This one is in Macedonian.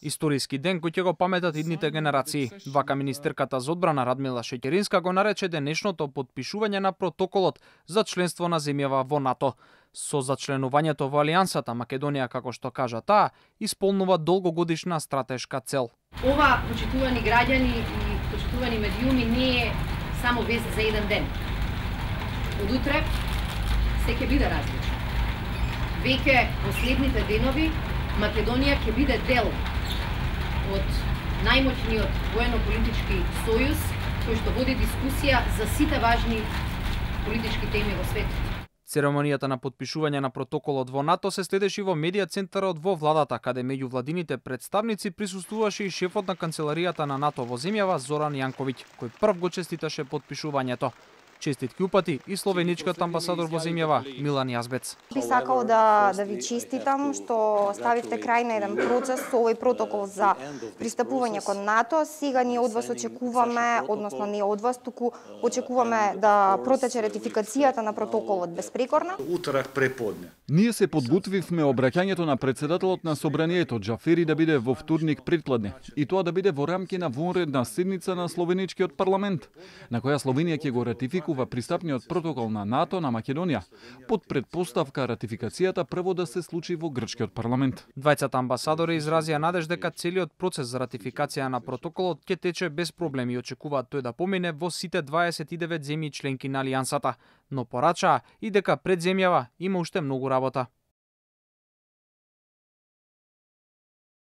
Историски ден кој ќе го паметат идните генерации. Вака министерката за одбрана Радмила Шеќеринска го нарече денешното потпишување на протоколот за членство на земјава во НАТО. Со зачленувањето во Алијансата, Македонија, како што кажа таа, исполнува долгогодишна стратешка цел. Ова, почитувани граѓани и почитувани медиуми, не е само вест за еден ден. Од утре се ќе биде различно. Веќе последните денови Македонија ќе биде дел од најмоćниот воено-политички сојуз кој што води дискусија за сите важни политички теми во светот. Церемонијата на потпишување на протоколот во НАТО се следеше во медија центарот во владата, каде меѓу владините представници присуствуваше и шефот на канцеларијата на НАТО во земјава Зоран Јанковиќ, кој прв го честиташе потпишувањето. Честитки упати и словеничкиот амбасадор во земјава Милан Јазбец. Би сакал да ви честитам што ставивте крај на еден процес со овој протокол за пристапување кон НАТО. Сега ние од вас очекуваме, односно не од вас, туку очекуваме да протече ратификацијата на протоколот безпрекорно. Уторак преподне. Ние се подготвивме обраќањето на претседателот на собранието Џафери да биде во вторник предпладне и тоа да биде во рамки на вонредна седница на словеничкиот парламент, на која Словенија ќе го ратификува пристапниот протокол на НАТО на Македонија, под предпоставка ратификацијата прво да се случи во грчкиот парламент. Двајцата амбасадори изразија надеж дека целиот процес за ратификација на протоколот ќе тече без проблеми и очекуваат тој да помине во сите 29 земји членки на Алијансата, но порачаа и дека пред земјава има уште многу работа.